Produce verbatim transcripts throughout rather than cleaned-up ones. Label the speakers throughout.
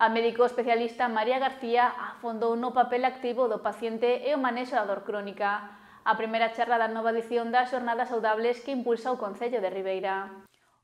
Speaker 1: A médico especialista María García afondou no papel activo do paciente e o manexo da dor crónica. A primeira charla da nova edición das Xornadas Saudables que impulsa o Concello de Ribeira.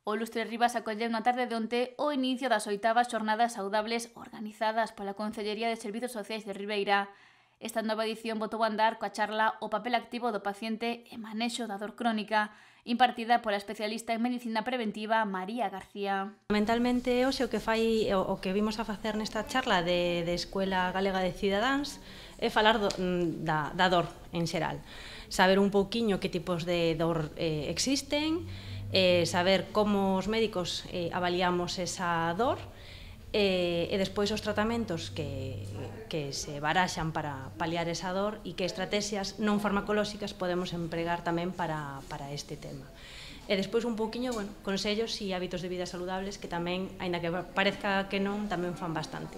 Speaker 1: O Lustre Rivas acolleu na tarde de onte o inicio das oitavas Xornadas Saudables organizadas pola Concellería de Servizos Sociais de Ribeira. Esta nova edición botou a andar coa charla O papel activo do paciente e manexo da dor crónica, impartida pola especialista en medicina preventiva María García.
Speaker 2: Fundamentalmente hoxe o que fai o que vimos a facer nesta charla de, de Escuela Galega de Cidadáns é falar do, da, da dor en xeral, saber un pouquiño que tipos de dor eh, existen, eh, saber como os médicos eh, avaliamos esa dor, e, e despois os tratamentos que, que se baraxan para paliar esa dor e que estrategias non farmacolóxicas podemos empregar tamén para, para este tema. E despois un pouquiño, bueno, consellos e hábitos de vida saludables que tamén, aínda que parezca que non, tamén fan bastante.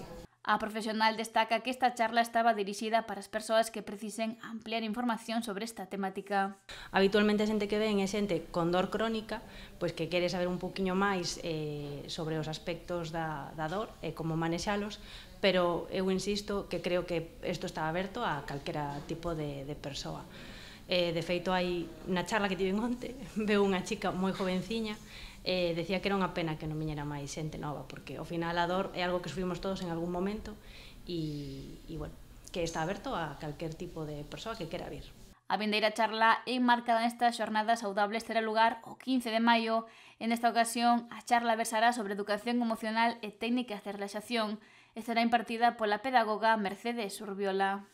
Speaker 1: A profesional destaca que esta charla estaba dirixida para as persoas que precisen ampliar información sobre esta temática.
Speaker 2: Habitualmente a xente que ven é xente con dor crónica, pois que quere saber un pouquiño máis eh, sobre os aspectos da, da dor e como manexalos, pero eu insisto que creo que isto está aberto a calquera tipo de, de persoa. Eh, de feito, hai na charla que tiven onte, veu unha chica moi jovenciña, eh, decía que era unha pena que non viñera máis xente nova, porque ao final a dor é algo que sufrimos todos en algún momento e, e bueno, que está aberto a calquer tipo de persoa que quera vir.
Speaker 1: A vindeira charla enmarcada nestas Xornadas Saudables terá lugar o quince de maio. En esta ocasión, a charla versará sobre educación emocional e técnicas de relaxación e será impartida pola pedagoga Mercedes Urbiola.